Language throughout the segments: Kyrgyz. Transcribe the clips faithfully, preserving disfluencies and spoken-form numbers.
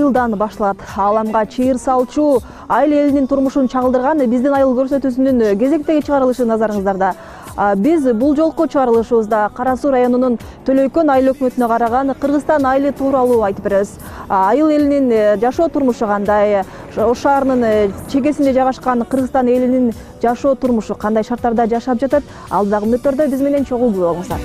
айылдан башталат. Ааламга чыйыр салчу айыл элинин турмушун чагылдырган биздин айыл көрсөтүүсүнүн кезектеги чыгарылышы назарыңыздарда. Биз бул жолку чыгарылышыбызда Кара Суу районунун Төлөйкөн айыл өкмөтүнө караган Кыргызстан айылы тууралуу айтып беребиз. Айыл элинин жашоо турмушу кандай, Ош шаарынын чегесинде жайгашкан Кыргызстан элинин жашоо турмушу кандай шарттарда жашап жатат? Алдагы мүнөттөрдө биз менен чогуу болуңуздар.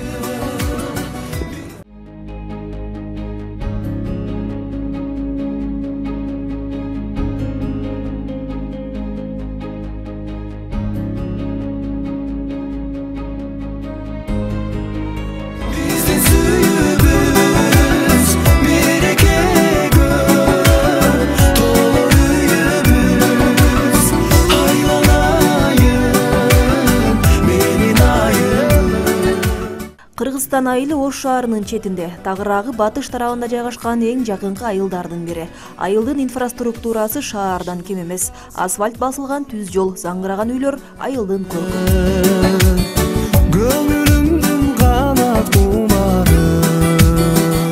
Кыргызстан айылы Ош шаарынын четинде, тагыраагы батыш тарабында жайгашкан эң жакынкы айылдардын бири. Айылдын инфраструктурасы шаардан кем эмес. Асфальт басылган түз жол, заңгыраган үйлөр айылдын көркүнү.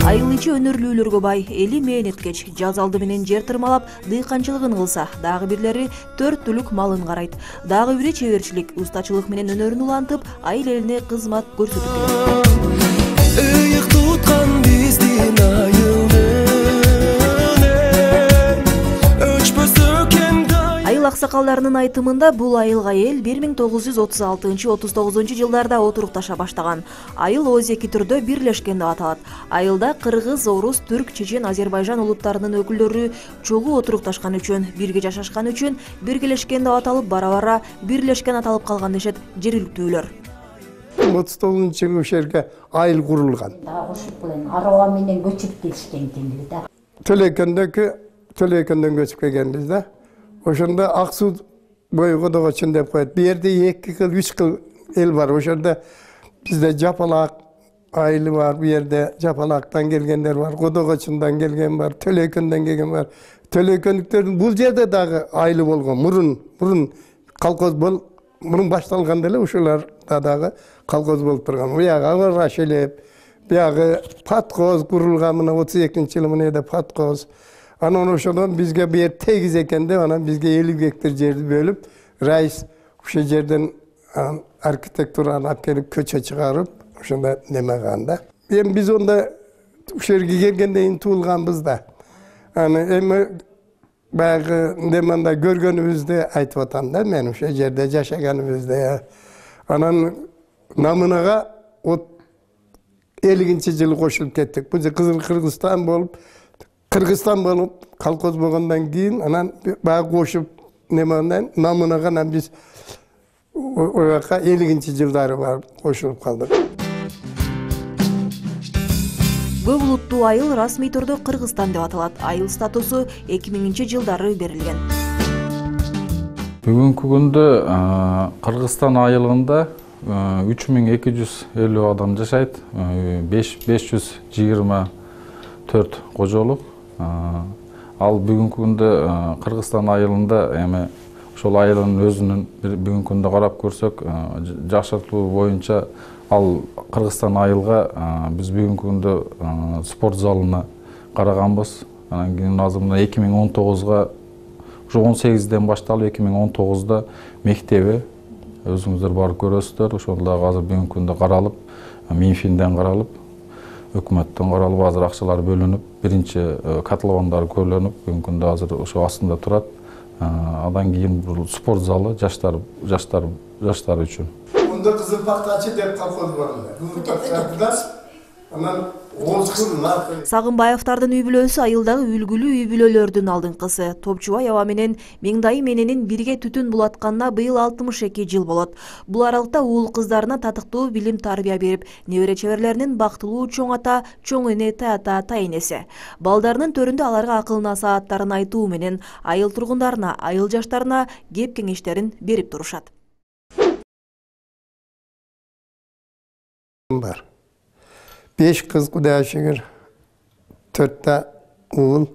Айыл ичи өнөрлүүлөргө бай, эли мээнеткеч, жаз алды менен жер тырмалап, дыйканчылыгын кылса, дагы бирлери төрт түлүк малын карайт. Дагы бири чеберчилик, устачылык менен өнөрүн улантып, айыл элине кызмат көрсөтүп келет. Ыйык туткан биздин айылды айыл аксакалдарынын айтымында бул айылга эл бир миң тогуз жүз отуз алтынчы отуз тогузунчу жылдарда отурукташа баштаган. Айыл ооз эки түрдө бирлешкен деп аталат. Айылда кыргыз, орус, түрк, чечен, азербайжан улуттарынын өкүлдөрү чогуу отурукташкан үчүн, бирге жашашкан үчүн биргелешкен деп аталып, бара-бара бирлешкен аталып калган дешет жергиликтүүлөр. отуз тогузунчу жылы ошол жерге айыл курулган. Ошол менен араба менен көчүп келишкен экен да. Төлөйкөндөгү Төлөйкөндөн көчүп келгенбиз да. Ошондо ак суу бою Кодогочун деп коет. Бу жерде эки кыл, үч кыл эл бар. Ошондо бизде Жапалак айылы бар, бу жерде Жапалактан келгендер бар, Кодогочундан келген бар, Төлөйкөндөн келген бар. Төлөйкөндүктөрдүн бул жерде дагы айылы болгон. Мурун, мурун колхоз бол, мурун башталганда эле ушуларда дагы колхоз болуп турган. Буягы Ага Шелеп, буягы Паткоз курулган, мына отуз экинчи жылы мына Паткоз. Анан ошондон бизге бу жер тегиз экен деп, анан бизге элүү гектар жерди бөлүп, райыс ошол жерден архитектураны алып келип көчө чыгарып, ошондо неме кылган да. Эми биз онда ошол жерге келгенден кийин туулганбыз да. Аны эми баягы неманда көргөнүбүздү айтып атам да, мен ошол жерде жашаганыбызды. Анан намынага элүүнчү жылы кошулуп кеттик. Бул Кызыл Кыргызстан болуп, Кыргызстан болуп, колхоз болгондон кийин анан баягы кошуп неменден намынага анан биз ояка элүүнчү жылдары барып кошулуп калдык. Көп улуттуу айыл расмий түрдө Кыргызстан деп аталат. Айыл статусу эки миңинчи жылдары берилген. Бүгүнкү күндө Кыргызстан айылында үч миң эки жүз элүү адам жашайт. беш жүз жыйырма төрт кожолук. Ал бүгүнкү күндө Кыргызстан айылында эми ошол айылдын өзүнүн бүгүнкү күндө карап көрсөк, жакшыртуу боюнча ал Кыргызстан айылга биз бүгүнкү күндө спорт залына караганбыз. Анан кийин азыр мына эки миң он тогузга ушу он сегизден башталып эки миң он тогузда мектеби өзүңүздөр барып көрөсүздөр. Ошол дагы азыр бүгүнкү күндө каралып, Минфинден каралып, өкмөттөн каралып, азыр акчалар бөлүнүп, биринчи котловандар көөлөнүп, бүгүнкү күндө азыр ошо астында турат. Адан кийин бул спорт залы жаштар жаштар жаштар үчүн. Мында Кызыл Пактачы деп колхоз бар эле. Кызыл Пактачыда анан Сагынбаевдардын үй бүлөсү айылдагы үлгүлүү үй бүлөлөрдүн алдыңкысы. Топчубай аба менен Меңдайым эненин бирге түтүн булатканына быйыл алтымыш эки жыл болот. Бул аралыкта уул кыздарына татыктуу билим тарбия берип, небере чеберлеринин бактылуу чоң ата, чоң эне, тата, тайнеси. Балдарынын төрүндө аларга акыл насааттарын айтуу менен айыл тургундарына, айыл жаштарына кеп кеңештерин берип турушат. Бар. Beş kız Kudaya şükür, törtte oğul.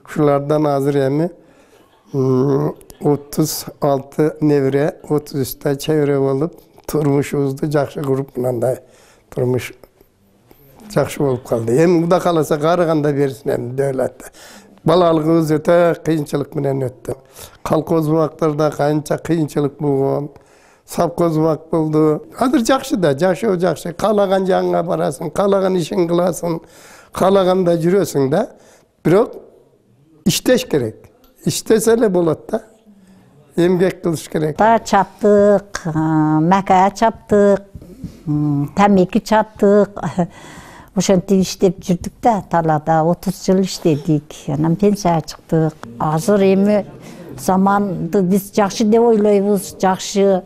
Şulardan hazır emi otuz altı nevre, otuz üçte çevre olup turmuşuzdu, jakşı kurup bundan turmuş jakşı olup kaldı. Hem bu da kalasa qarıganda bersin hem devlette. балалыгыбыз өтө кыйынчылык менен өттү. Колхоз убактарда канча кыйынчылык болгон, совхоз убак болду. Азыр жакшы да, жашоо жакшы. Каалаган жагыңа барасың, каалаган ишин кыласың, каалаганда жүрөсүң да. Бирок иштеш керек. İştese эле болот да. Эмгек кылыш керек. Та чаптык, мака чаптык, тамеки чаптык. Ошентип иштеп жүрдүк да, талаада отуз жыл иштедик. Анан пенсияга чыктык. Азыр эми заманды биз жакшы деп ойлойбуз, жакшы.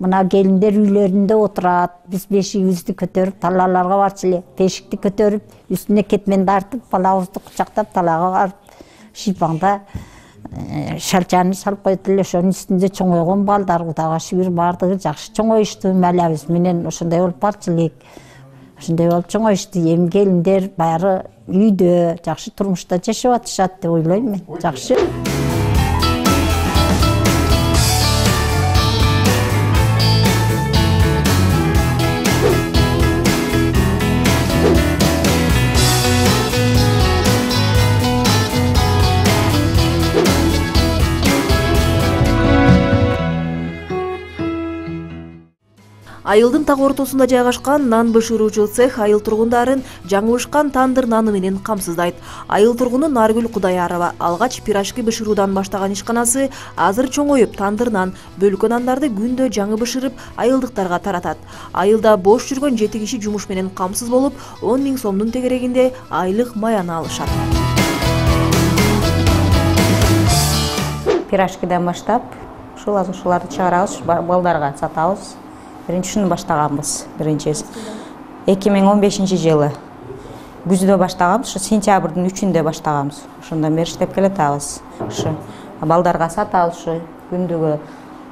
Мына келиндер үйлөрүндө отурат. Биз бешигибизди көтөрүп, талааларга барчу эле. Бешикти көтөрүп, үстүнө кетмен тартып, балабызды кучактап талаага барып, шипаңда шалчаны салып койдук эле. Ошонун үстүндө чоңойгон балдар, Кудайга шүгүр, баардыгы жакшы чоңоюшту. Мэлябиз менен ошондой болуп барчу элек. Ошондой болуп чоңоюшту. Эми келиндер баары үйдө, жакшы турмушта жашап атышат деп ойлойм мен. Жакшы. Айылдын так ортосунда жайгашкан нан бышыруучу цех айыл тургундарын жаңылышкан тандыр наны менен камсыздайт. Айыл тургуну Наргүл Кудаярова алгач пирожки бышыруудан баштаган ишканасы азыр чоңоюп, тандыр нан, бөлкө нандарды күндө жаңы бышырып, айылдыктарга таратат. Айылда бош жүргөн жети киши жумуш менен камсыз болуп, он миң сомдун тегерегинде айлык маяны алышат. Пирожкиден баштап, ушул ушуларды чыгарабыз, балдарга сатабыз. Биринчисин баштаганбыз, биринчиси. эки миң он бешинчи жылы күздө баштаганбыз, ушу сентябрдын үчүндө баштаганбыз. Ошондон бери иштеп келатабыз. Ушу балдарга сатабыз, ушу күндүгө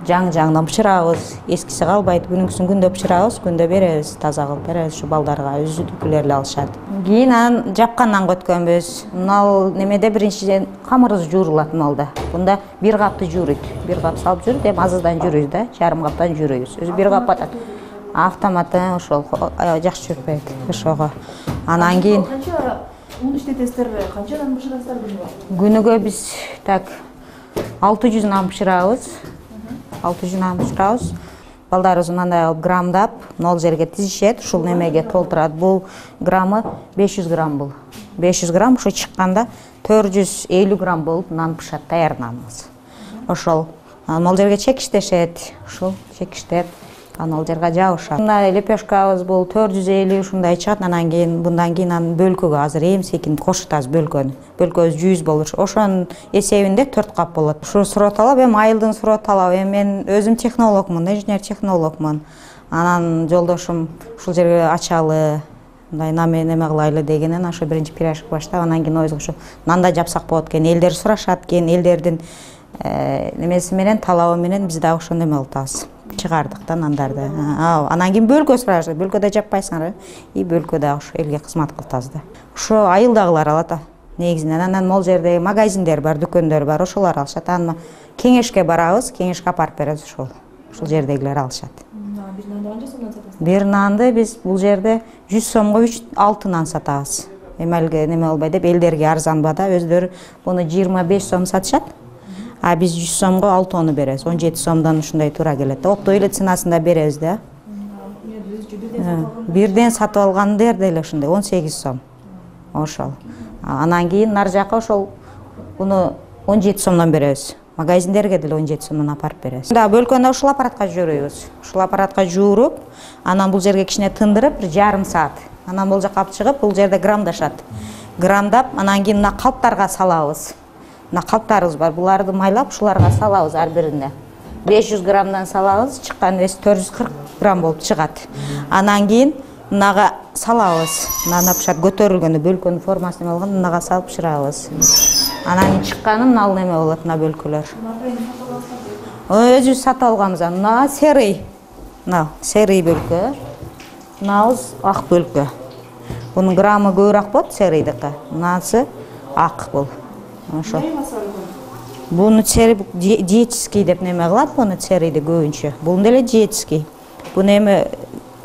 жаңы-жаңыдан бышырабыз. Эскиси калбайт, күнүңкүсүн күндө бышырабыз, күндө беребиз, таза кылып беребиз ушу балдарга, өзүдүкүлөр эле алышат. Кийин анан жапкандан көткөнбүз. Мына немеде биринчиден камырыбыз жуурулат малда. Бунда бир капты жууруйт. Бир кап салып жүрүп, эми азыздан жууруйбуз да, жарым каптан жууруйбуз. Өзү бир кап атат. Автоматтан ошол жакшы жүрбөйт ошого. Анан кийин Канча ун иштетесиздер, канчадан бышырасыздар күнүгө? Күнүгө биз так алты жүз нан бышырабыз. алты жүз нан бышырабыз. Балдарыбыз мындай кылып граммдап, нол жерге тизишет, ушул немеге толтурат. Бул граммы беш жүз грамм бул. беш жүз грамм ушу чыкканда төрт жүз элүү грамм болуп нан пышат, даяр наныбыз. Ошол нол жерге чекиштешет, ушул чекиштеп, анан ал жерге жабышат. Мындай лепешкабыз бул төрт жүз элүү ушундай чыгат. Анан кийин bundan кийин анын бөлкөгө азыр эм секин кошутабыз бөлкөнү. Бөлкөбүз жүз болур. Ошонун эсебинде төрт кап болот. Ушу суроо талап, эми айылдын суроо талабы. Эми мен өзүм технологмун, инженер технологмун. Анан жолдошум ушул жерге ачалы, мындай наме неме кылайлы дегенен ошо биринчи пирожки баштап, анан кийин ойбуз ушу нанда жапсак болот экен. Элдер сурашат экен, элдердин немеси менен, талабы менен биз дагы ошондой эме кылып атабыз. Чыгардык да нандарды. Анан кийин бөлкө сурашат. Бөлкөдө жаппайсыңар, и бөлкөдө ушу элге кызмат кылып атабыз да. Ошо айылдагылар алат. Негизинен анан могул жерде магазиндер бар, дүкөндөр бар, ошолор алышат. Анан кеңешке барабыз, кеңешке апарып беребиз ошол. Ушул жердегилер алышат. Бир нанды канча сомдон сатасыз? Бир нанды биз бул жерде жүз сомго үч алты нан сатабыз. Эми элге неме болбой деп элдерге арзанба да, өздөрү буну жыйырма беш сом сатышат. А биз жүз сомго алтыны беребиз. он жети сомдон ушундай туура келет. Оптой эле ценасында беребиз да. Бирден сатып алгандер деле ушундай он сегиз сом. Ошол. Анан кийин нар жака ошол буну он жети сомдон беребиз. Магазиндерге деле он жети сомдон апарып беребиз. Да, бөлкөнү ушул аппаратка жууруйбуз. Ушул аппаратка жууруп, анан бул жерге кичине тындырып, бир жарым саат. Анан бул жака алып чыгып, бул жерде грамдашат. Грамдап, анан кийин мына калптарга салабыз. Мына калптарыбыз бар, буларды майлап ушуларга салабыз ар бирине. беш жүз граммдан салабыз, чыккан вес төрт жүз кырк грамм болуп чыгат. Анан кийин мынага салабыз. Мына пышат көтөрүлгөнү, бөлкөнүн формасын алган, мынага салып бышырабыз. Анан чыкканы мына неме болот, мына бөлкөлөр. Өзүбүз сатып алганбыз. Мына серый. Мына серый бөлкө. Мынабыз ак бөлкө. Бунун граммы көбүрөөк болот серыйдыкы. Мынасы ак бул. Ошо. Буну церий диетический деп неме кылат, буну церийди көбүнчө. Бул деле диетический. Буну эми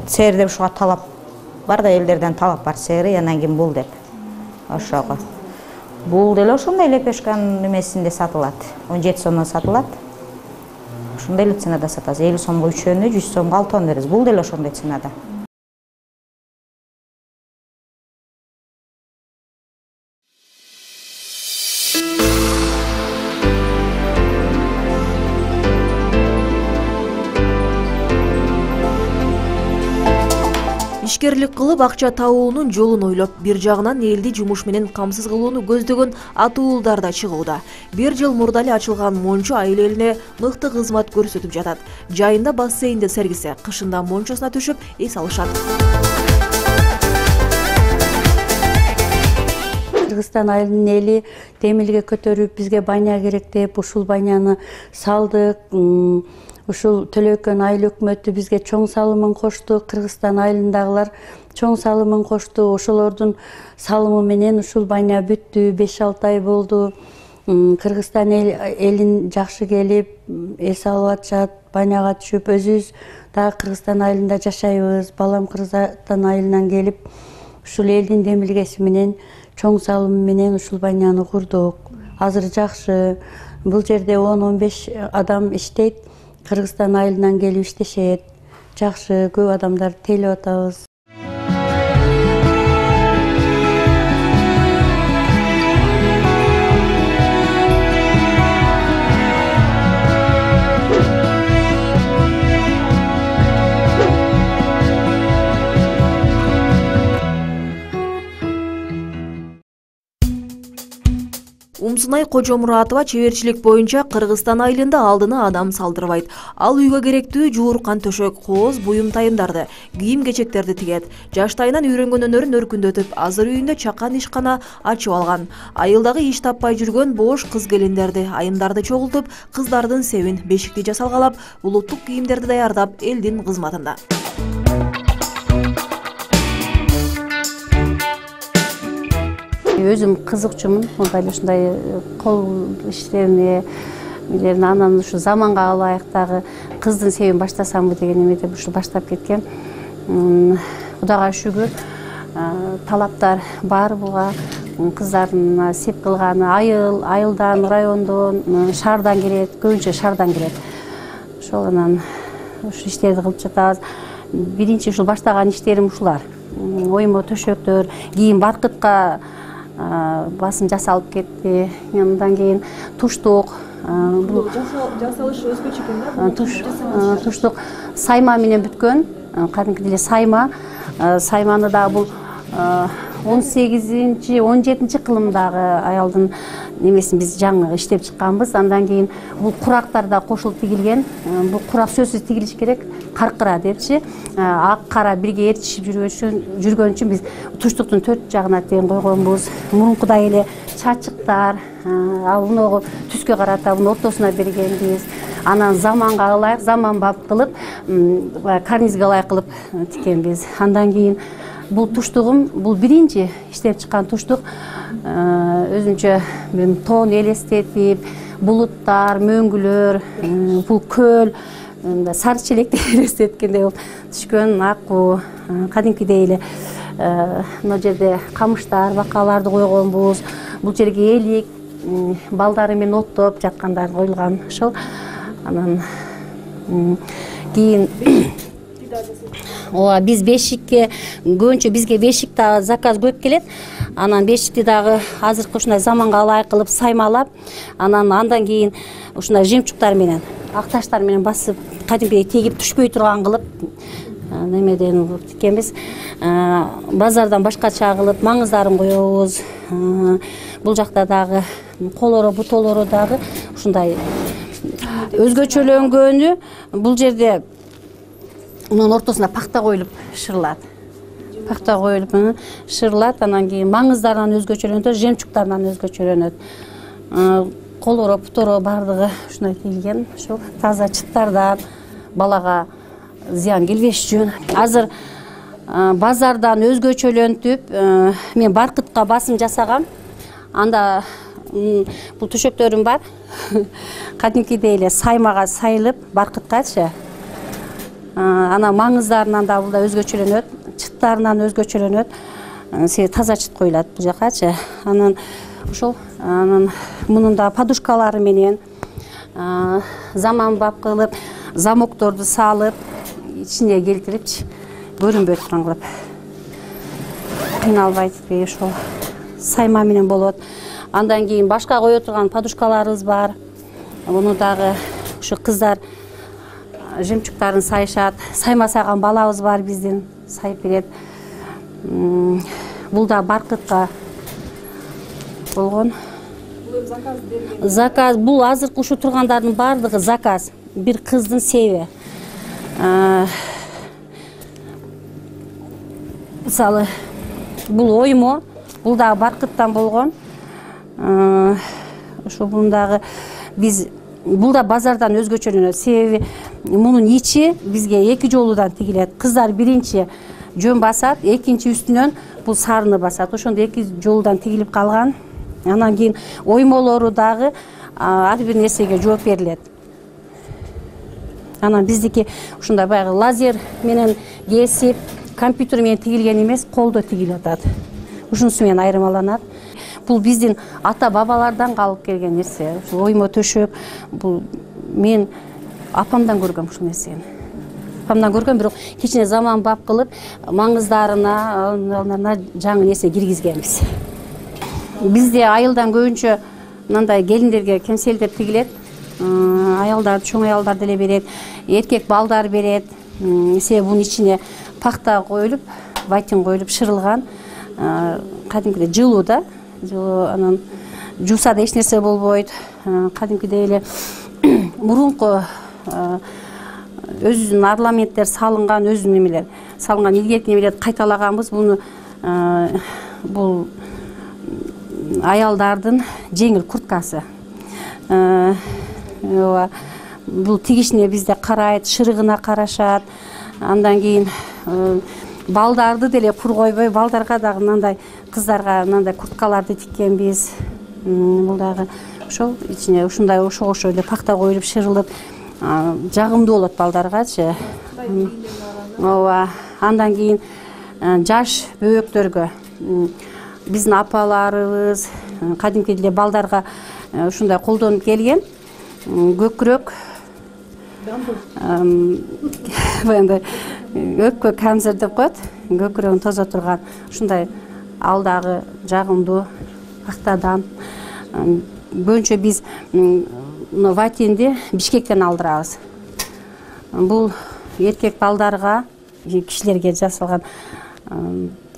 церий деп ушуга талап бар да, элдерден талап бар церий, анан кийин бул деп. Ошого. Бул деле ошондой лепешканын эмесинде сатылат. он жети сомдон сатылат. Ошондой эле ценада сатабыз. элүү сомго үчөөнү, жүз сомго алтоон беребиз. Бул деле ошондой ценада. Ишкерлик кылып акча табуунун жолун ойлоп, бир жагынан элди жумуш менен камсыз кылууну көздөгөн атуулдар да чыгууда. Бир жыл мурда эле ачылган Мончо айыл элине мыкты кызмат көрсөтүп жатат. Жайында бассейнде сергисе, кышында мончосуна түшүп эс алышат. Кыргызстан айылынын эли темилге көтөрүп, бизге байня керек деп ушул байняны салдык. Ушул Төлөйкөн айыл өкмөтү бизге чоң салымын кошту, Кыргызстан айылындагылар чоң салымын кошту. Ошолордун салымы менен ушул байня бүттү, беш алты ай болду. Кыргызстан элин жакшы келип, эс алып атышат, байняга түшүп, өзүбүз дагы Кыргызстан айылында жашайбыз. Балам Кыргызстан айылынан келип, ушул элдин демилгеси менен, чоң салымы менен ушул байняны курдук. Азыр жакшы. Бул жерде он он беш адам иштейт. Кыргызстан айылынан келип иштешет. Жакшы, көп адамдар тейлеп атабыз. Умсунай Кожомуратова чеберчилик боюнча Кыргызстан айылында алдына адам салдырбайт. Ал үйгө керектүү жууркан төшөк, кооз, буюм тайымдарды, кийим-кечектерди тигет. Жаштайынан үйрөнгөн өнөрүн өркүндөтүп, азыр үйүндө чакан ишкана ачып алган. Айылдагы иш таппай жүргөн бош кыз-келиндерди, айымдарды чогултуп, кыздардын себин, бешикти жасалгалап, улуттук кийимдерди даярдап, элдин кызматында. Өзүм кызыкчумун, мындай ушундай кол иштерине, анан ушу заманга ылайык дагы кыздын себин баштасамбы деген эмеде ушу баштап кеткем. Кудайга шүгүр, талаптар бар буга. Кыздардын сеп кылганы айыл, айылдан, райондон, шаардан келет, көбүнчө шаардан келет. Ошол анан ушу иштерди кылып жатабыз. Биринчи ушул баштаган иштерим ушулар. Оймо төшөктөр, кийин баркытка басым жасалып кетти. Андан кийин туштук. Бул жасалышы өзгөчө экен да? Туштук сайма менен бүткөн. Кадимки эле сайма. Сайманы да бул он сегизинчи он жетинчи кылымдагы аялдын немесин биз жаңы иштеп чыкканбыз. Андан кийин бул курактар да кошулуп тигилген. Бул курак сөзсүз тигилиш керек. Каркыра депчи. Ак кара бирге ээрчишип жүргөн үчүн биз туштуктун төрт жагына тең койгонбуз. Мурункудай эле чачыктар, ал муну түскө карата муну ортосуна бергенбиз. Анан заманга ылайык, заманбап кылып, карнизге ылайык кылып тиккенбиз. Андан кийин бул туштугум, бул биринчи иштеп чыккан туштук. Өзүнчө мен тоон элестетип, булуттар, мөңгүлөр, бул көл, сары челекти элестеткендей болуп түшкөн. Акуу, кадимкидей эле мына жерде камыштар, бакаларды койгонбуз. Бул жерге элик, балдары менен оттоп жаткандар коюлган ошол. Анан кийин ооба биз бешикке көбүнчө бизге бешик дагы заказ көп келет. Анан бешикти дагы азыркы ушундай заманга ылайык кылып саймалап, анан андан кийин ушундай жемчуктар менен, ак таштар менен басып, кадимкидей тегип түшпөй турган кылып немеден тиккенбиз. Базардан башкача кылып маңыздарын коебуз. Бул жакта дагы колоро, бутолору дагы ушундай өзгөчөлөнгөнү. Бул жерде мунун ортосуна пахта коюлуп шырылат. Пахта коюлуп шырылат, анан кийин маңыздарынан өзгөчөлөнөт, жемчуктарынан өзгөчөлөнөт. Колоро, буторо бардыгы ушундай тигилген. Ошол таза чыттардан балага зыян келбеш үчүн. Азыр базардан өзгөчөлөнтүп, мен баркытка басым жасагам. Анда бул төшөктөрүм бар. Кадимкидей эле саймага сайылып, баркыткачы. Анан маңыздарынан да бул да өзгөчөлөнөт, чыттарынан өзгөчөлөнөт. Себеби таза чыт коюлат бул жакачы. Анан ошол анан мунун да подушкалары менен заманбап кылып замокторду салып ичине келтирипчи көрүнбөй турган кылып кыйналбайт ошол сайма менен болот. Андан кийин башка кое турган подушкаларыбыз бар. Муну дагы ушу кыздар жемчугтарын сайышат. Сайма сайган балабыз бар биздин, сайып берет. Бул да баркытка болгон. Заказ бул азыркы ушу тургандардын баардыгы заказ. Бир кыздын себи. Мисалы бул оймо, бул дагы баркыттан болгон. Ошо бундагы биз бул да базардан өзгөчөлөнөт. Себеби мунун ичи бизге эки жолудан тигилет. Кыздар биринчи жөн басат, экинчи үстүнөн бул сарыны басат. Ошондо эки жолудан тигилип калган. Анан кийин оймолору дагы ар бир нерсеге жооп берилет. Анан биздики ушундай баягы лазер менен кесип, компьютер менен тигилген эмес, колдо тигилип атат. Ушунусу менен айырмаланат. Бул биздин ата бабалардан калып келген нерсе. Ушу оймо төшөп, бул мен апамдан көргөм ушул нерсени. Апамдан көргөм, бирок кичине заманбап кылып, маңыздарына жаңы нерсе киргизгенбиз. Бизде айылдан көбүнчө мындай келиндерге кемселдер тигилет. Аялдар, чоң аялдар деле берет, эркек балдар берет. Себеби бунун ичине пахта коюлуп, ватин коюлуп шырылган, кадимкидей жылуу да. Анан жууса да эч нерсе болбойт. Кадимкидей эле мурунку өзүнүн орнаменттер салынган, өзүнүн эмелер салынган, илгерки эмелерди кайталаганбыз. Буну бул аялдардын жеңил курткасы. Бул тигишине бизде карайт, шырыгына карашат. Андан кийин балдарды деле кур койбой, балдарга дагы мындай кыздарга мындай курткаларды тиккенбиз. Бул дагы ошол ичине ушундай ошого окшой эле пахта коюлуп шырылып, жагымдуу болот балдаргачы. Ооба. Андан кийин жаш бөбөктөргө биздин апаларыбыз кадимки эле балдарга ушундай колдонуп келген көкүрөк баягындай өпкө камзыр деп коет, көкүрөгүн тозо турган ушундай алдагы жагымдуу пахтадан. Көбүнчө биз ватинди Бишкектен алдырабыз. Бул эркек балдарга, кишилерге жасалган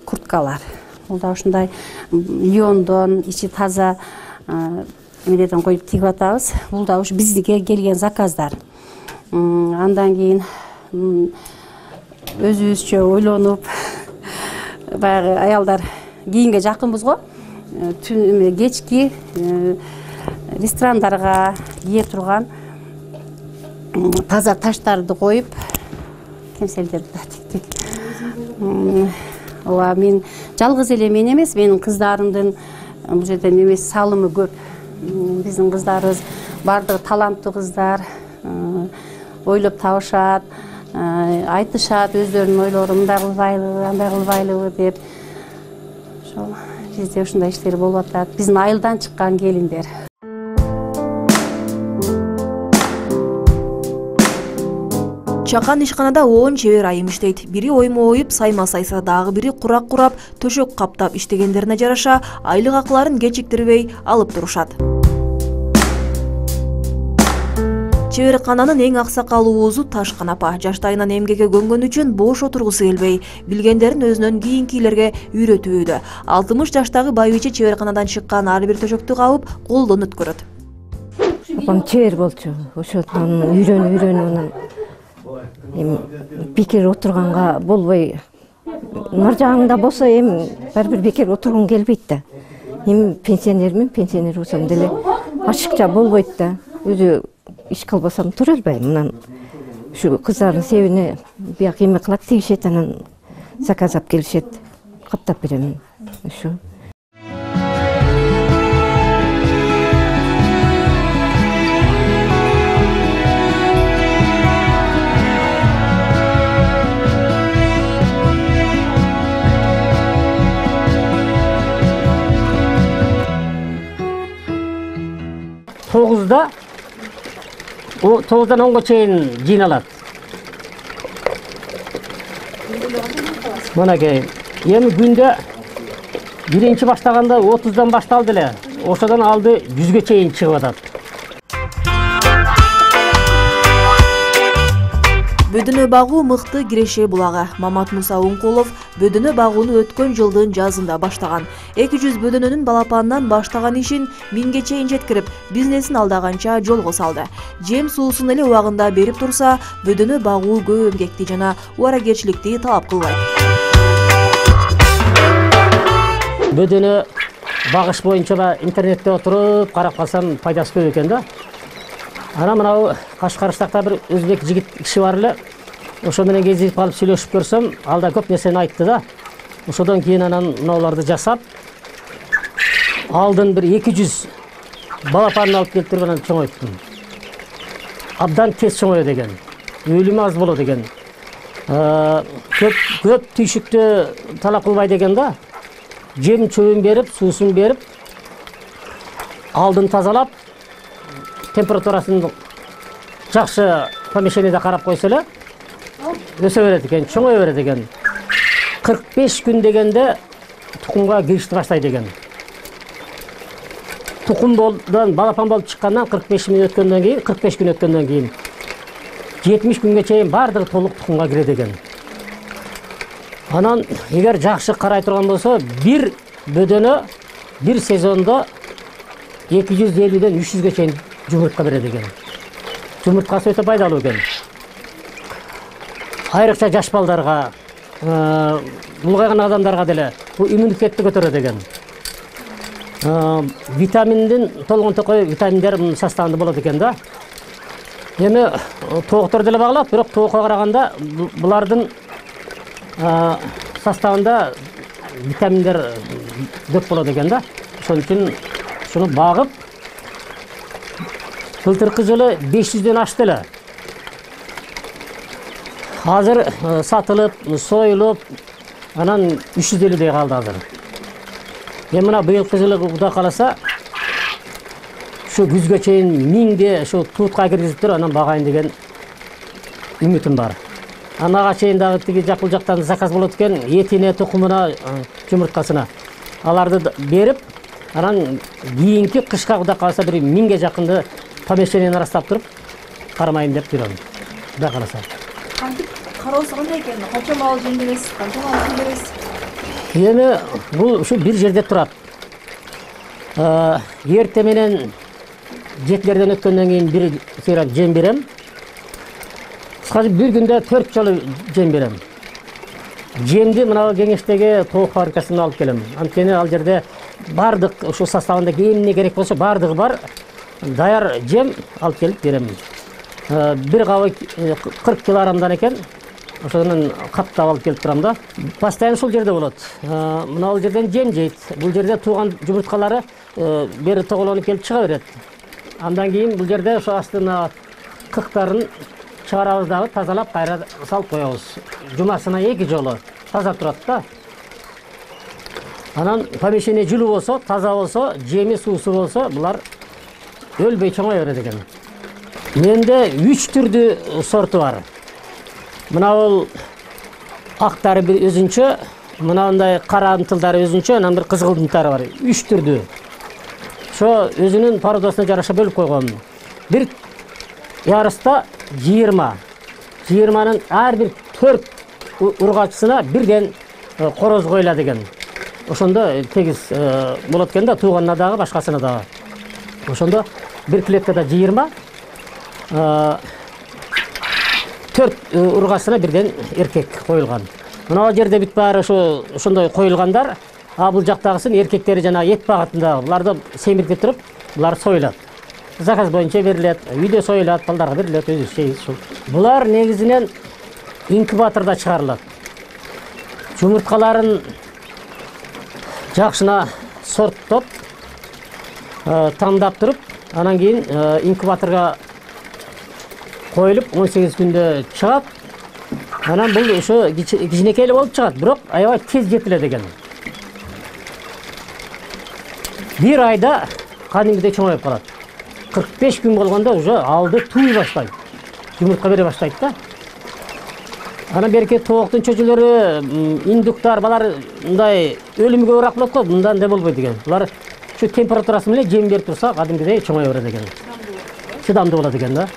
курткалар. Бул да ушундай льондон, ичи таза эмелерден коюп тигип атабыз. Бул да ушу бизге келген заказдар. Андан кийин өзүбүзчө ойлонуп, баягы аялдар кийинге жакынбыз го. Түн кечки ресторандарга кие турган таза таштарды коюп, кемселдерди да тиктик. Ооба, мен жалгыз эле мен эмес, менин кыздарымдын бул жерден эмес салымы көп. Биздин кыздарыбыз бардыгы таланттуу кыздар, ойлоп табышат, айтышат өздөрүнүн ойлорун, мындай кылбайлыбы, андай кылбайлыбы деп. Ошол бизде ушундай иштер болуп атат. Биздин айылдан чыккан келиндер. Чакан ишканада он чебер айым иштейт. Бири оймо оюп, сайма сайса, дагы бири курак курап, төшөк каптап иштегендерине жараша айлык акыларын кечиктирбей алып турушат. Чеберкананын эң аксакалуусу Ташкан апа жаштайынан эмгекке көнгөн үчүн бош отургусу келбей, билгендерин өзүнөн кийинкилерге үйрөтүүдө. алтымыш жаштагы байбиче чеберканадан чыккан ар бир төшөктү кабып, колдон өткөрөт. Апам чебер болчу. Ошондон үйрөнүп үйрөнүп анан эми бекер отурганга болбой. Нар жагыңда болсо эми бир бир бекер отургум келбейт да. Эми пенсионермин, пенсионер болсом деле ашыкча болбойт да. Өзү иш кылбасам тура албайм. Мынан ушу кыздардын себине бияк эме кылат, тигишет, анан заказ алып келишет, каптап берем. Ушу. тогуздан онго чейин жыйналат. Мынакей, эми күндө биринчи баштаганда отуздан башталды эле. Ошодон алды жүзгө чейин чыгып атат. Бөдөнө багуу мыкты киреше булагы. Мамат Муса Уңкулов бөдөнө багууну өткөн жылдын жазында баштаган. эки жүз бөдөнөнүн балапанынан баштаган ишин миңге чейин жеткирип, бизнесин алдаганча жолго салды. Жем суусун эле убагында берип турса, бөдөнө багуу көп эмгекти жана убаракерчиликти талап кылбайт. Бөдөнө багыш боюнча интернетте отуруп карап калсам пайдасы көп экен да. Ана мынау Кашкарстакта бир өзбек жигит киши бар эле. Ошо менен кезип калып сүйлөшүп көрсөм, ал да көп нерсени айтты да. Ошодон кийин анан мынауларды жасап, алдын бир эки жүз балапанын алып келтирип анан чоңойттум. Абдан тез чоңоё деген. Өлүмү аз болот деген. Көп көп түйшүктү талап кылбай деген да. Жем чөбүн берип, суусун берип, алдын тазалап, температурасын жакшы помещениеде карап койсо эле өсө берет экен, чоңое берет экен. кырк беш күн дегенде тукумга киришти баштайт экен. Тукумдан балапан болуп чыккандан кырк беш күн өткөндөн кийин, кырк беш күн өткөндөн кийин жетимиш күнгө чейин баардыгы толук тукумга кирет экен. Анан эгер жакшы карай турган болсо, бир бөдөнө бир сезондо эки жүз элүүдөн үч жүзгө чейин жумуртка берет экен. Жумурткасы өтө пайдалуу экен. Айрыкча жаш балдарга, улгайган адамдарга деле бул иммунитетти көтөрөт экен. Витаминдин толгон токой витаминдер составында болот экен да. Эми тооктор деле багылат, бирок тоокко караганда булардын составында витаминдер көп болот экен да. Ошон үчүн шуну багып, былтыркы жылы беш жүздөн ашты эле. Азыр сатылып, союлуп, анан үч жүз элүүдөй калды азыр. Эми мына быйылкы жылы Кудай кааласа, ушу күзгө чейин миңде ушу туутка киргизип туруп, анан багайын деген үмүтүм бар. Анага чейин дагы тиги жакыл жактан заказ болот экен, этине, тукумуна, жумурткасына. Аларды берип, анан кийинки кышка Кудай кааласа бир миңге жакынды помещениени ырастап туруп кармайын деп жүрөм. Кудай кааласа. Кантип кароосу кандай экен? Канча мал жемдебейсиз, канча мал жемдебейсиз? Эми бул ушу бир жерде турат. Эрте менен жетилерден өткөндөн кийин бир сыйрак жем берем. Кыскасы бир күндө төрт жолу жем берем. Жемди мына кеңештеги тоок фабрикасынан алып келем. Анткени ал жерде бардык ушу составында эмне керек болсо бардыгы бар. Даяр жем алып келип берем. Бир кабы кырк килограммдан экен. Ошондон каптап алып келип турам да. Постоянно ушул жерде болот. Мына бул жерден жем жейт. Бул жерде тууган жумурткалары бери тоголонуп келип чыга берет. Андан кийин бул жерде ошо астына кыктарын чыгарабыз дагы, тазалап кайра салып коебуз. Жумасына эки жолу таза турат да. Анан помещение жылуу болсо, таза болсо, жеми суусу болсо, булар өлбөй чоңое берет экен. Менде үч түрдүү сорту бар. Мына бул актары бир өзүнчө, мынандай кара ынтылдары өзүнчө, анан бир кызгыл ынтылдары бар. Үч түрдүү. Ошо өзүнүн породасына жараша бөлүп койгон. Бир ярыста жыйырма. жыйырманын ар бир төрт ургачысына бирден короз коюлат экен. Ошондо тегиз болот экен да, тууганына дагы, башкасына дагы. Ошондо бир клеткада жыйырма, төрт ургачысына бирден эркек коюлган. Мына жерде бүт баары ошо ошондой коюлгандар, а бул жактагысын эркектери жана эт багытында, буларды семиртип туруп, булар союлат. Заказ боюнча берилет, үйдө союлат, балдарга берилет, өзү şey ушул. Булар негизинен инкубаторда чыгарылат. Жумурткаларын жакшына сорттоп, тандап туруп, анан кийин инкубаторга коюлуп он сегиз күндө чыгат. Анан бул ошо кичинекей эле болуп чыгат, бирок аябай тез жетилет экен. Бир айда кадимгидей чоңоюп калат. кырк беш күн болгондо уже алды тууй баштайт, жумуртка бере баштайт да. Анан берки тооктун чөчөлөрү, индуктар, балар мындай өлүмгө ууrak болот го, мындан андай болбойт экен. Булар ушу температурасы менен жем берип турса, кадимгидей чоңое берет экен. Чыдамдуу болот экен да.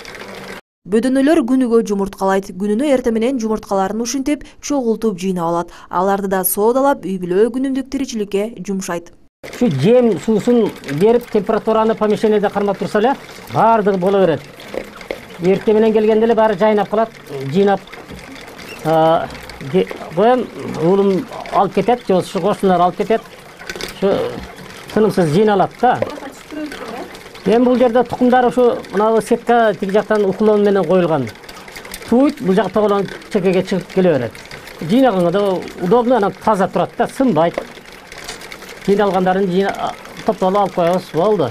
Бөдөнөлөр күнүгө жумурткалайт. Күнүнө эртең менен жумурткаларын ушинтип, чогултуп жыйнап алат. Аларды да соодалап, үй бүлө күнүмдүк тиричиликке жумшайт. Şu жем суусун берип, температураны помещениеде кармап турса эле, баардыгы боло берет. Эртең менен келгенде эле баары жайнап калат, жыйнап коем, уулум алып кетет, же болбосо кошуналар алып кетет. Şu тынымсыз жыйналат да. Эми бул жерде тукумдар ушу мына сетка тиги жактан уклон менен коюлган. Туйт, бул жак тоголон чекеге чыгып келе берет. Жыйнаганга да удобно, анан таза турат да, сынбайт. Жыйналгандарын топтолуп алып коебуз, болду.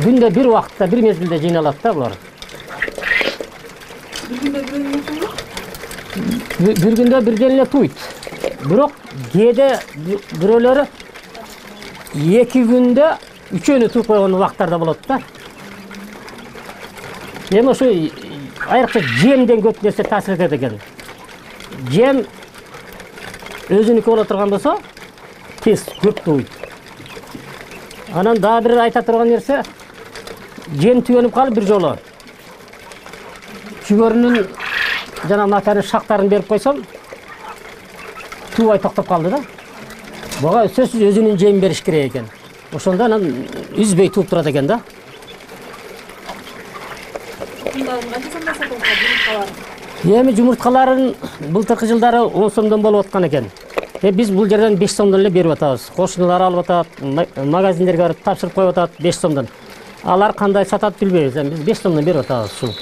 Күндө бир убакытта, бир мезгилде жыйналат да булар. Бир күндө бир мезгилде? Бир күндө бирден эле туйт. Бирок кээде бирөөлөрү эки күндө үчөөнү туйуп койгон убактар да болот да. Эми ошо айрыкча жемден көп нерсе таасир этет экен. Жем өзүнүкү боло турган болсо, тез көп туйт. Анан дагы бир айта турган нерсе, жем түгөнүп калып бир жолу жүгөрүнүн жана матанын шактарын берип койсом, туубай токтоп калды да. Буга сөзсүз өзүнүн жемин бериш керек экен. Ошондо анан үзбөй тууп турат экен да. Эми жумурткаларын былтыркы жылдары он сомдон болуп аткан экен. Э биз бул жерден беш сомдон эле берип атабыз. Кошуналар алып атат, магазиндерге барып тапшырып коюп атат беш сомдон. Алар кандай сатат билбейбиз, эми биз беш сомдон берип атабыз ушул.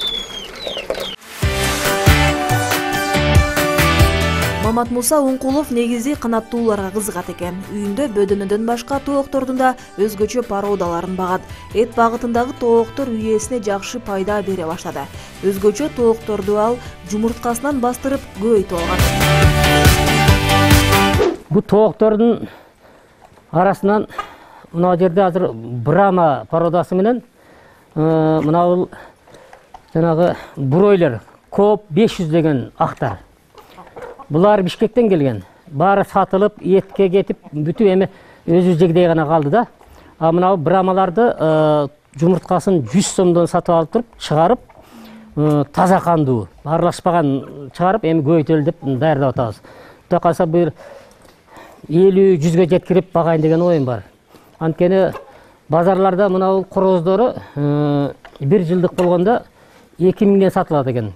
Мамат Муса Уңкулов негизи канаттууларга кызыгат экен. Үйүндө бөдөнөдөн башка тооктордун да өзгөчө породаларын багат. Эт багытындагы тооктор үйесине жакшы пайда бере баштады. Өзгөчө тоокторду ал жумурткасынан бастырып көбөйтүп алган. Бул тооктордун арасынан мына жерде азыр Брама породасы менен мына бул жанагы бройлер Коп беш жүз деген актар. Булар Бишкектен келген. Баары сатылып, этке кетип, бүтүп эми өзү жегдей гана калды да. А мына брамаларды жумурткасын жүз сомдон сатып алып туруп, чыгарып, таза кандуу, аралашпаган чыгарып, эми көбөйтөлү деп даярдап атабыз. Кудай калса бир элүү жүзгө жеткирип багайын деген оюм бар. Анткени базарларда мына бул короздору бир жылдык болгондо эки миңден сатылат экен.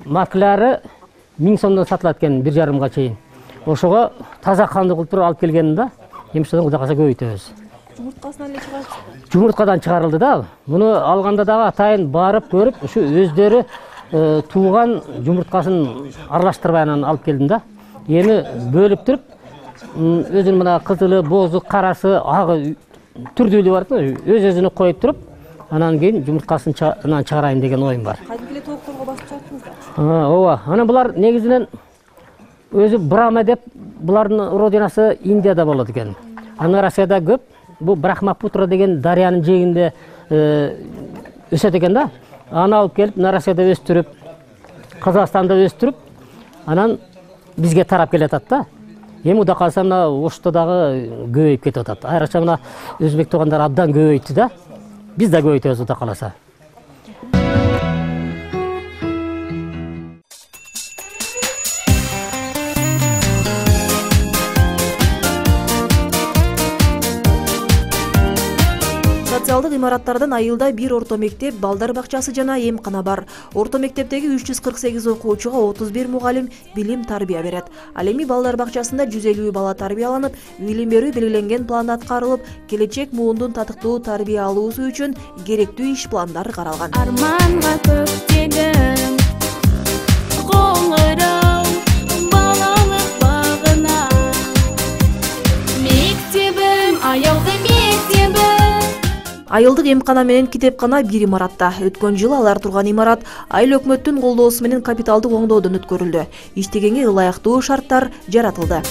Маклары миң сомдон сатылат экен бир жарымга чейин. Ошого таза кандуу кылып туруп алып келгенин да, эми ошондон кудай калса көбөйтөбүз. Жумурткасынан эле чыгарып? Жумурткадан чыгарылды да. Муну алганда дагы атайын барып көрүп, ушу өздөрү тууган жумурткасын аралаштырбай анан алып келдим да. Эми бөлүп туруп, өзүнүн мына кызылы, бозу, карасы, агы түрдүүлүгү бар да, өз-өзүнө коюп туруп, анан кийин жумурткасын чыгарайын деген оюм бар. Кадимки тоокторго басып чыгаттыңызбы? Ооба. Анан булар негизинен өзү Брама деп, булардын родинасы Индияда болот экен. Анан Россияда көп. Бул Брахмапутра деген дарыянын жээгинде өсөт экен да. Аны алып келип, Россияда өстүрүп, Казакстанда өстүрүп, анан бизге тарап келатат да. Эми кудай калса мына Ошто дагы көбөйүп кетип атат. Айрыкча мына өзбек туугандар абдан көбөйттү да. Биз да көбөйтөбүз кудай каласа. Социалдык имараттардан айылда бир орто мектеп, балдар бакчасы жана эмкана бар. Орто мектептеги үч жүз кырк сегиз окуучуга отуз бир мугалим билим тарбия берет. Ал эми балдар бакчасында жүз элүү бала тарбияланып, билим берүү белгиленген план аткарылып, келечек муундун татыктуу тарбия алуусу үчүн керектүү иш пландар каралган. Арманга көктөгөн коңгуроо балалык багына мектебим аялды мектебим. Айылдык эмкана менен китепкана бир имаратта. Өткөн жылы алар турган имарат айыл өкмөттүн колдоосу менен капиталдык оңдоодон өткөрүлдү. Иштегенге ылайыктуу шарттар жаратылды.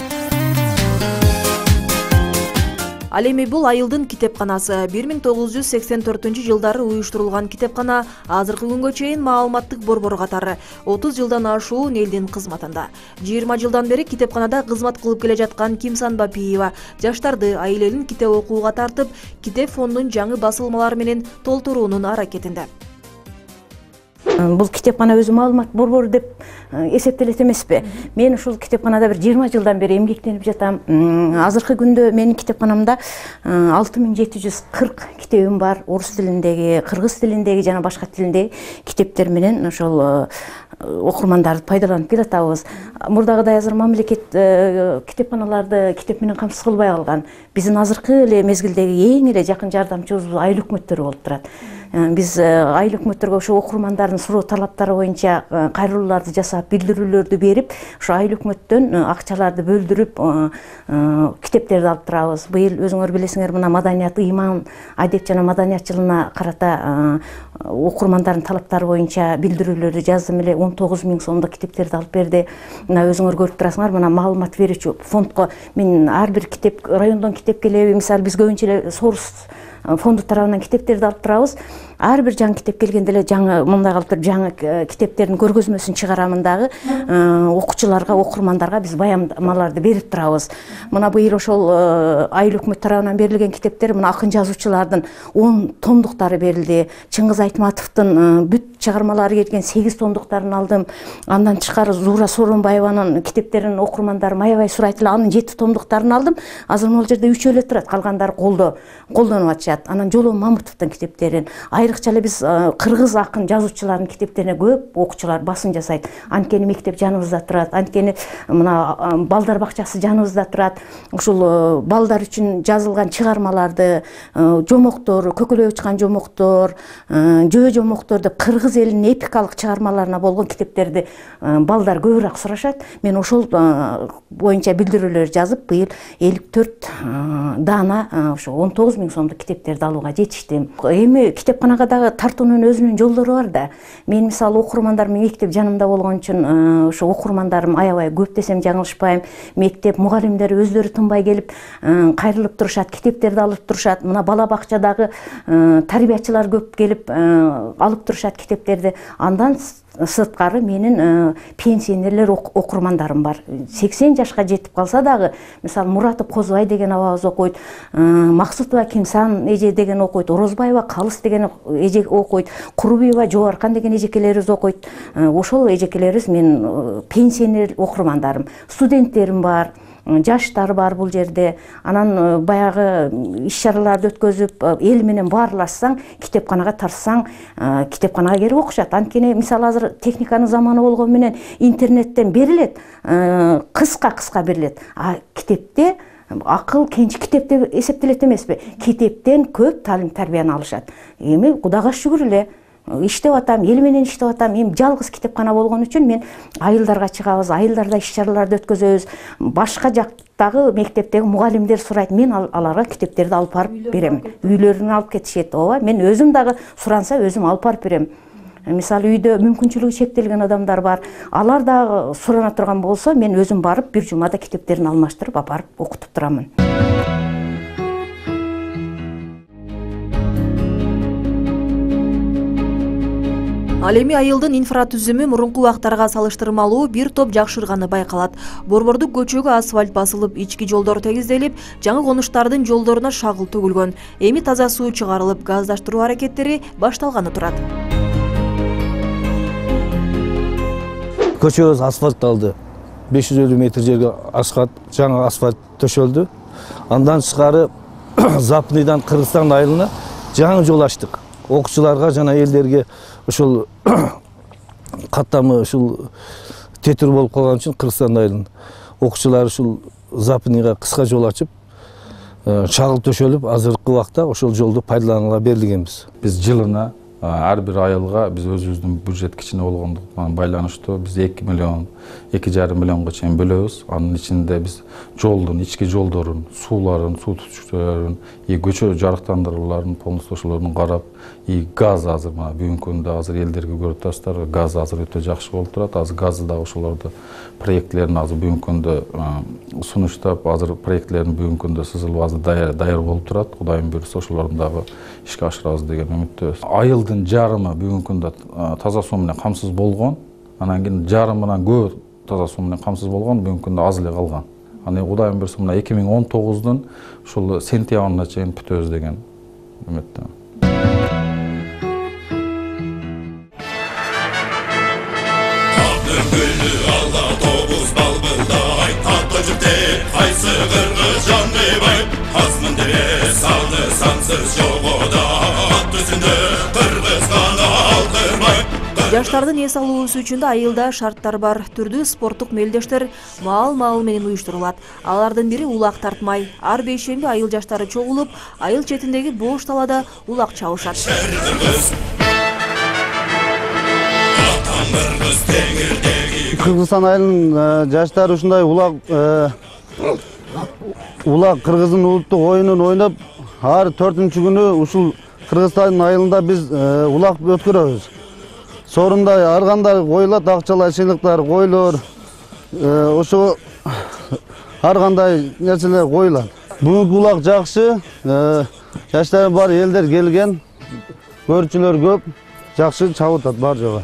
Ал эми бул Айылдын китепканасы. бир миң тогуз жүз сексен төртүнчү жылдары уюштурулган китепкана азыркы күнгө чейин маалыматтык борбор катары отуз жылдан ашуун элдин кызматында. жыйырма жылдан бери китепканада кызмат кылып келе жаткан Кимсан Бапиева жаштарды айыл китеп окууга тартып, китеп фондун жаңы басылмалары менен толтуруунун аракетинде. Бул китепкана өзү маалымат борбору деп эсептелет эмеспи? Мен ушул китепканада бир жыйырма жылдан бери эмгектенип жатам. Азыркы күндө менин китепканамда алты миң жети жүз кырк китебим бар. Орус тилиндеги, кыргыз тилиндеги жана башка тилиндеги китептер менен ошол окурмандарды пайдаланып келатабыз. Мурдагыдай азыр мамлекет китепканаларды китеп менен камсыз кылбай калган. Биздин азыркы эле мезгилдеги эң эле жакын жардамчыбыз айыл өкмөттөрү болуп турат. Биз айыл өкмөттөргө ошо окурмандардын суроо талаптары боюнча кайрылууларды жасап, билдирүүлөрдү берип, ошо айыл өкмөттөн акчаларды бөлдүрүп, китептерди алып турабыз. Быйыл өзүңөр билесиңер, мына маданият, ыйман, адеп жана маданият жылына карата окурмандардын талаптары боюнча билдирүүлөрдү жаздым эле, он тогуз миң сомдук китептерди алып берди. Мына өзүңөр көрүп турасыңар, мына маалымат берүүчү фондко мен ар бир китеп, райондон китеп келеби, мисалы биз көбүнчө эле Сорус фонду тарабынан китептерди алып турабыз. Ар бир жаңы китеп келгенде эле жаңы мындай кылып туруп жаңы китептердин көргөзмөсүн чыгарамын дагы окуучуларга, окурмандарга биз баяндамаларды берип турабыз. Мына быйыл ошол айыл өкмөт тарабынан берилген китептер, мына акын жазуучулардын он томдуктары берилди. Чыңгыз Айтматовдун бүт чыгармалары келген сегиз томдуктарын алдым. Андан тышкары Зуура Сооронбаеванын китептерин окурмандарым аябай сурайт эле, анын жети томдуктарын алдым. Азыр могул жерде үчөө эле турат, калгандары колдо колдонуп атышат. Анан Жолон Мамытовдун китептерин, айрыкча эле биз кыргыз акын жазуучулардын китептерине көп окуучулар басым жасайт. Анткени мектеп жаныбызда турат, анткени мына балдар бакчасы жаныбызда турат. Ушул балдар үчүн жазылган чыгармаларды, жомоктор, көкөлөп учкан жомоктор, жөө жомоктор деп кыргыз элинин эпикалык чыгармаларына болгон китептерди балдар көбүрөөк сурашат. Мен ошол боюнча билдирүүлөр жазып, быйыл элүү төрт даана ошо он тогуз миң сомдук китептерди алууга жетиштим. Эми китепканага дагы тартуунун өзүнүн жолдору бар да. Мен мисалы окурмандарым мектеп жанымда болгон үчүн ошо окурмандарым аябай көп десем жаңылышпайм. Мектеп мугалимдери өздөрү тынбай келип кайрылып турушат, китептерди алып турушат. Мына бала бакчадагы тарбиячылар көп келип алып турушат китептерди. Андан сырткары менин пенсионерлер окурмандарым бар. сексен жашка жетип калса дагы, мисалы Муратов Козубай деген абабыз окуйт, Максутова Кимсан эже деген окуйт, Орозбаева Калыс деген эже окуйт, Курубиева Жогоркан деген эжекелерибиз окуйт. Ошол эжекелерибиз мен пенсионер окурмандарым, студенттерим бар. Жаштар бар бул жерде. Анан баягы иш-чараларды өткөзүп, эл менен баарлашсаң, китепканага тарсаң, китепканага келип окушат. Анткени мисалы азыр техниканын заманы болгон менен интернеттен берилет, кыска-кыска берилет. А китепте акыл кенч китеп деп эсептелет эмеспи? Китептен көп таалим тарбияны алышат. Эми Кудайга шүгүр эле иштеп атам, эл менен иштеп атам. Эми жалгыз китепкана болгон үчүн мен айылдарга чыгабыз, айылдарда иш-чараларды өткөзөбүз. Башка жактагы мектептеги мугалимдер сурайт, мен аларга китептерди алып барып берем. Үйлөрүнө алып кетишет. Ооба, мен өзүм дагы суранса өзүм алып барып берем. Мисалы үйдө мүмкүнчүлүгү чектелген адамдар бар. Алар дагы сурана турган болсо, мен өзүм барып бир жумада китептерин алмаштырып апарып окутуп турамын. Ал эми айылдын инфратүзүмү мурунку убактарга салыштырмалуу бир топ жакшырганы байкалат. Борбордук көчөгө асфальт басылып, ички жолдор тегизделип, жаңы конуштардын жолдоруна шагыл төгүлгөн. Эми таза суу чыгарылып, газдаштыруу аракеттери башталганы турат. Көчөгүбүз асфальтталды. беш жүз элүү метр жерге асфальт, жаңы асфальт төшөлдү. Андан тышкары Запныйдан Кыргызстан айылына жаңы жол ачтык. Окуучуларга жана элдерге ушул каттамы ушул тетир болуп калган үчүн Кыргызстан айылынын окуучулары ушул Запныйга кыска жол ачып, чагыл төшөлүп, азыркы убакта ошол жолду пайдаланууга берилгенбиз. Биз жылына ар бир айылга биз өзүбүздүн бюджет кичине болгондугу менен байланыштуу биз эки миллион, эки жарым миллионго чейин бөлөбүз. Анын ичинде биз жолдун, ички жолдорун, сууларын, суу түтүкчөлөрүн, көчө жарыктандырууларын, полностью ошолорун карап, и газ азыр мына бүгүнкү күндө азыр элдерге көрүп турасыздар, газ азыр өтө жакшы болуп турат. Азыр газды дагы ошолорду проектлерин азыр бүгүнкү күндө сунуштап, азыр проектлерин бүгүнкү күндө сызылып азыр даяр даяр болуп турат. Кудайым буйрса ошолорду дагы ишке ашырабыз деген үмүттөбүз. Айылдын жарымы бүгүнкү күндө таза суу менен камсыз болгон. Анан кийин жарымынан көбү таза суу менен камсыз болгон, бүгүнкү күндө аз эле калган. Аны Кудайым буйрса мына эки миң он тогуздун ушул сентябрына чейин бүтөбүз деген үмүттөмүн. Жаштардын эс алуусу үчүн да айылда шарттар бар. Түрдүү спорттук мелдештер маал-маал менен уюштурулат. Алардын бири улак тартмай. Ар бейшемби айыл жаштары чогулуп, айыл четиндеги бош талада улак чабышат. Кыргызстан айылынын жаштары ушундай улак улак кыргыздын улуттук оюнун ойноп, ар төртүнчү күнү ушул Кыргызстан айылында биз улак өткөрөбүз. Сорунда ар кандай коюлат, акчалар, сыйлыктар, койлор, ошо ар кандай нерселер коюлат. Бүгүнкү улак жакшы, жаштар бар, элдер келген, көрүүчүлөр көп, жакшы чабып атат бар жагы.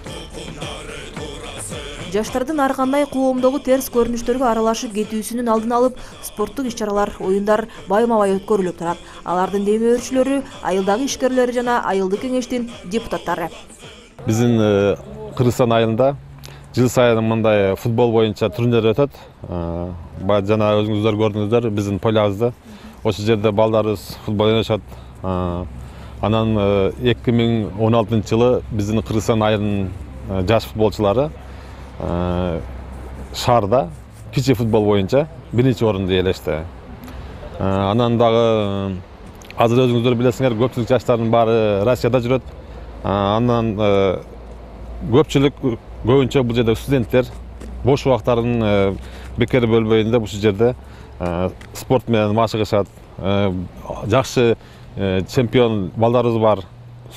Жаштардын ар кандай коомдогу терс көрүнүштөргө аралашып кетүүсүнүн алдын алып, спорттук иш-чаралар, оюндар байма-бай өткөрүлүп турат. Алардын демөөрчүлөрү, айылдагы ишкерлери жана айылдык кеңештин депутаттары. Биздин Кыргызстан айылында жыл сайын мындай футбол боюнча турнир өтөт. Жана өзүңүздөр көрдүңүздөр биздин полябызда. Ошол жерде балдарыбыз футбол ойношот. Анан эки миң он алтынчы жылы биздин Кыргызстан айылынын жаш футболчулары шаарда кичи футбол боюнча биринчи орунду ээлешти. Анан дагы азыр өзүңүздөр билесиңер, көпчүлүк жаштардын баары Россияда жүрөт. Андан көпчүлүк көбүнчө бул жерде студенттер бош убактарын бекер бөлбөйүн деп ушул жерде спорт менен машыгышат. Жакшы чемпион балдарыбыз бар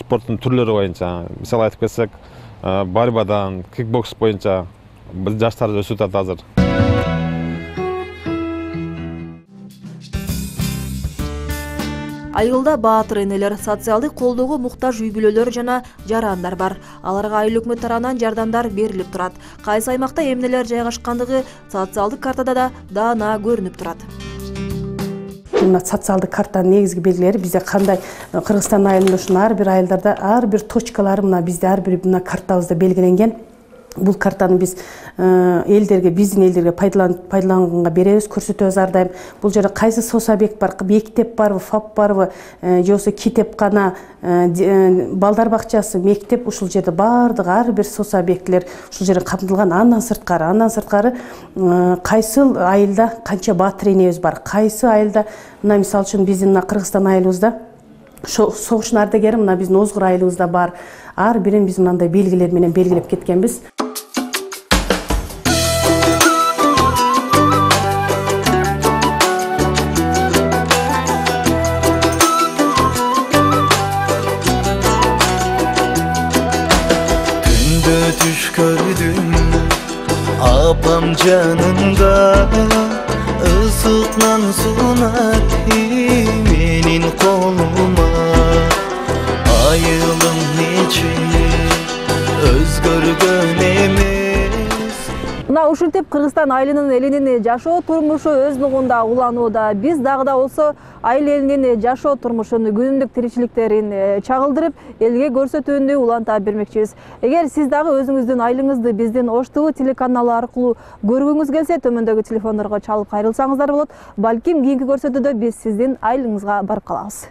спорттун түрлөрү боюнча. Мисалы айтып кетсек, борьбадан, кикбокс боюнча биз жаштарды өсүп атат азыр. Айылда баатыр энелер, социалдык колдоого муктаж үй бүлөлөр жана жарандар бар. Аларга айыл өкмөт тарабынан жардамдар берилип турат. Кайсы аймакта эмнелер жайгашкандыгы социалдык картада да даана көрүнүп турат. Мына социалдык картанын негизги белгилери бизде кандай Кыргызстан айылында ушун ар бир айылдарда ар бир точкалары мына бизде ар бир мына картабызда белгиленген. Бул картаны биз элдерге, биздин элдерге пайдаланганга беребиз, көрсөтөбүз ар дайым. Бул жерде кайсы соц объект бар, мектеп барбы, ФАП барбы, же болбосо китепкана, балдар бакчасы, мектеп, ушул жерде баардык ар бир соц объектилер ушул жерде камтылган. Андан сырткары, андан сырткары кайсы айылда канча баатыр энебиз бар, кайсы айылда мына мисалы үчүн биздин мына Кыргызстан айылыбызда согуштун ардагери мына биздин Озгур айылыбызда бар. Ар бирин биз мындай белгилер менен белгилеп кеткенбиз. Düş gördüm apam canında ısıtlan sunar menin koluma ayılım niçin özgürgün emez. Мына ушинтип Кыргызстан айылынын элинин жашоо турмушу өз нугунда уланууда. Биз дагы да болсо айыл элинин жашоо турмушун, күнүмдүк тиричиликтерин чагылдырып, элге көрсөтүүнү уланта бермекчибиз. Эгер сиз дагы өзүңүздүн айылыңызды биздин Ош ТВ телеканалы аркылуу көргүңүз келсе, төмөндөгү телефондорго чалып кайрылсаңыздар болот. Балким кийинки көрсөтүүдө биз сиздин айылыңызга барып калабыз.